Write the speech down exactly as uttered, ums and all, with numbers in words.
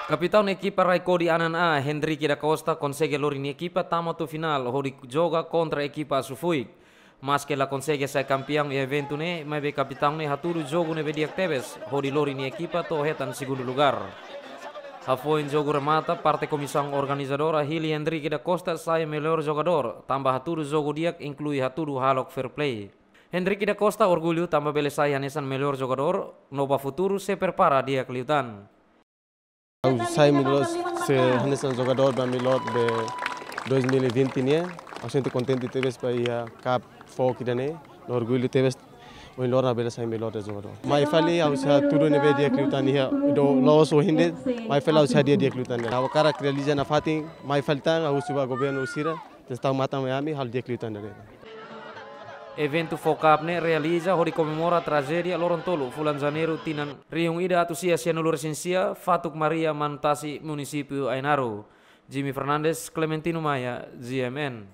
Kapitaun ekipa Raikkoa di Anan A, Hendrick da Costa, konsege lori nia ekipa tama to'o finál hodi joga kontra ekipa Asufuik. Maske la konsege sai kampiaun iha eventu ne'e, maibé kapitaun ne'e hatudu jogu ne'ebé di'ak tebes, hodi lori nia ekipa to'o hetan segundu lugar. Hafoin jogu remata, parte komisaun organizadora hili Hendrick da Costa sai mellór jogadór, tanba hatudu jogu di'ak, inklui hatudu hahalok fair play. Hendrick da Costa orgullu tanba bele sai hanesan mellór jogadór, no ba futuru sei prepara di'ak liután. Ha'u sai mellór, sai hanesan jogadór ba mellór de dois mil e vinte nian. Ha'u sente kontente tebes ba iha Cup fó ida-ne'e. No orgullu tebes ohin loron bele sai mellór jogadór. Mai fali ha'u sei hatudu ne'ebé di'ak liután iha, do loos ohin de'it, mai fali ha'u sei hadi'a di'ak liután. Ha'u hakarak realiza nafatin, mai fali tan ha'u husu ba governu sira, testau matan mai ami, halo di'ak liután de'it. Eventu fó Cup ne'e realiza hodi komemora trajédia loron tolu fulan Janeiru tinan rihun ida atus sia sianulu resin sia, fatuk Maria Manu Tasi, munisípiu Ainaro. Jimmy Fernandes, Clementino Maia, G M N.